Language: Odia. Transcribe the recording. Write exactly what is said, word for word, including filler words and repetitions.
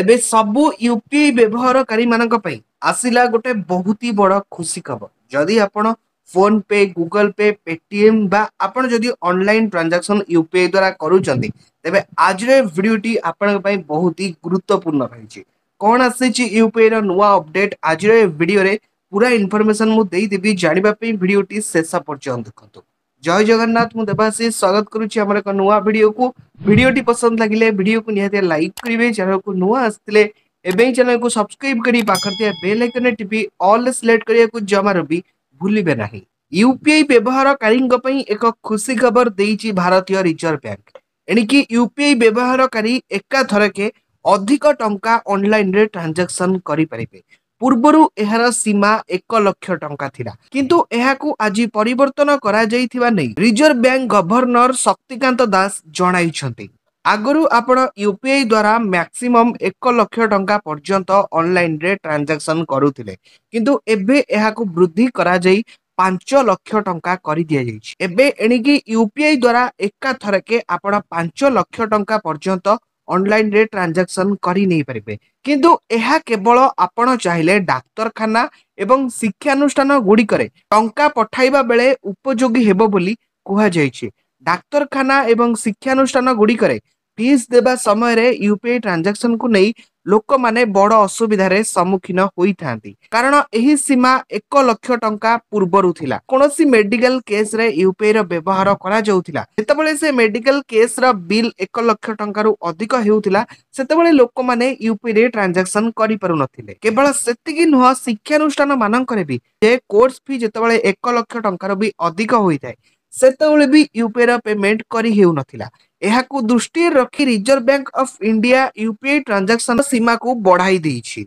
ଏବେ ସବୁ ୟୁପିଆଇ ବ୍ୟବହାରକାରୀ ମାନଙ୍କ ପାଇଁ ଆସିଲା ଗୋଟେ ବହୁତ ହି ବଡ ଖୁସି ଖବର। ଯଦି ଆପଣ phone pay, Google pay, Paytm ବା ଆପଣ ଯଦି ଅନଲାଇନ ଟ୍ରାଞ୍ଜାକ୍ସନ ୟୁପିଆଇ ଦ୍ୱାରା କରୁଛନ୍ତି, ତେବେ ଆଜିର ଏ ଭିଡିଓଟି ଆପଣଙ୍କ ପାଇଁ ବହୁତ ହି ଗୁରୁତ୍ୱପୂର୍ଣ୍ଣ ରହିଛି। କଣ ଆସିଛି ୟୁପିଆଇ ର ନୂଆ ଅପଡେଟ, ଆଜିର ଏ ଭିଡିଓରେ ପୁରା ଇନଫର୍ମେସନ ମୁଁ ଦେଇଦେବି। ଜାଣିବା ପାଇଁ ଭିଡିଓଟି ଶେଷ ପର୍ଯ୍ୟନ୍ତ ଦେଖନ୍ତୁ। ଜୟ ଜଗନ୍ନାଥ, ମୁଁ ଦେବାଶିଷ ସ୍ୱାଗତ କରୁଛି ଆମର ଏକ ନୂଆ ଭିଡିଓକୁ। ଭିଡିଓଟି ପସନ୍ଦ ଲାଗିଲେ ଭିଡିଓକୁ ନିହାତି ଲାଇକ୍ କରିବେ। ଚ୍ୟାନେଲକୁ ନୂଆ ଆସିଥିଲେ ଏବେ ହିଁ ଚ୍ୟାନେଲକୁ ସବସ୍କ୍ରାଇବ କରି ପାଖରେ ଥିବା ବେଲ୍ ଆଇକନରେ ଟିପି ଅଲ୍ ସିଲେକ୍ଟ କରିବାକୁ ଜମାରୁ ବି ଭୁଲିବେ ନାହିଁ। ୟୁପିଆଇ ବ୍ୟବହାରକାରୀଙ୍କ ପାଇଁ ଏକ ଖୁସି ଖବର ଦେଇଛି ଭାରତୀୟ ରିଜର୍ଭ ବ୍ୟାଙ୍କ। ଏଣିକି ୟୁପିଆଇ ବ୍ୟବହାରକାରୀ ଏକାଥରକେ ଅଧିକ ଟଙ୍କା ଅନଲାଇନରେ ଟ୍ରାଞ୍ଜାକ୍ସନ କରିପାରିବେ। ପୂର୍ବରୁ ଏହାର ସୀମା ଏକ ଲକ୍ଷ ଟଙ୍କା ଥିଲା, କିନ୍ତୁ ଏହାକୁ ଆଜି ପରିବର୍ତ୍ତନ କରାଯାଇଥିବା ନେଇ reserve bank governor Shaktikanta Das ଜଣାଇଛନ୍ତି। ଆଗରୁ ଆପଣ ୟୁପିଆଇ ଦ୍ୱାରା ମ୍ୟାକ୍ସିମମ୍ ଏକ ଲକ୍ଷ ଟଙ୍କା ପର୍ଯ୍ୟନ୍ତ ଅନଲାଇନରେ ଟ୍ରାଞ୍ଜାକ୍ସନ କରୁଥିଲେ, କିନ୍ତୁ ଏବେ ଏହାକୁ ବୃଦ୍ଧି କରାଯାଇ ପାଞ୍ଚ ଲକ୍ଷ ଟଙ୍କା କରିଦିଆଯାଇଛି। ଏବେ ଏଣିକି ୟୁପିଆଇ ଦ୍ୱାରା ଏକାଥରକେ ଆପଣ ପାଞ୍ଚ ଲକ୍ଷ ଟଙ୍କା ପର୍ଯ୍ୟନ୍ତ ଅନଲାଇନରେ ଟ୍ରାଞ୍ଜାକ୍ସନ କରି ନେଇପାରିବେ। କିନ୍ତୁ ଏହା କେବଳ ଆପଣ ଚାହିଁଲେ ଡାକ୍ତରଖାନା ଏବଂ ଶିକ୍ଷାନୁଷ୍ଠାନ ଗୁଡ଼ିକରେ ଟଙ୍କା ପଠାଇବା ବେଳେ ଉପଯୋଗୀ ହେବ ବୋଲି କୁହାଯାଇଛି। ଡାକ୍ତରଖାନା ଏବଂ ଶିକ୍ଷାନୁଷ୍ଠାନ ଗୁଡ଼ିକରେ ଫିସ୍ ଦେବା ସମୟରେ ୟୁପିଆଇ ଟ୍ରାଞ୍ଜାକ୍ସନକୁ ନେଇ ଲୋକମାନେ ବଡ ଅସୁବିଧାରେ ସମ୍ମୁଖୀନ ହୋଇଥାନ୍ତି, କାରଣ ଏହି ସୀମା ଏକ ଲକ୍ଷ ଟଙ୍କା ପୂର୍ବରୁ ଥିଲା। କୌଣସି ମେଡିକାଲ କେସରେ ୟୁପିଆଇ ର ବ୍ୟବହାର କରାଯାଉଥିଲା, ଯେତେବେଳେ ସେ ମେଡିକାଲ କେସର ବିଲ୍ ଏକ ଲକ୍ଷ ଟଙ୍କାରୁ ଅଧିକ ହେଉଥିଲା, ସେତେବେଳେ ଲୋକମାନେ ୟୁପିଆଇ ରେ ଟ୍ରାଞ୍ଜାକ୍ସନ କରିପାରୁନଥିଲେ। କେବଳ ସେତିକି ନୁହଁ, ଶିକ୍ଷାନୁଷ୍ଠାନ ମାନଙ୍କରେ ବି ଯେ କୋର୍ସ ଫି ଯେତେବେଳେ ଏକ ଲକ୍ଷ ଟଙ୍କାରୁ ବି ଅଧିକ ହୋଇଥାଏ, ସେତେବେଳେ ବି ୟୁପିଆଇ ର ପେମେଣ୍ଟ କରି ହେଉନଥିଲା। ଏହାକୁ ଦୃଷ୍ଟିରେ ରଖି reserve bank of India UPI transaction ସୀମାକୁ ବଢାଇ ଦେଇଛି।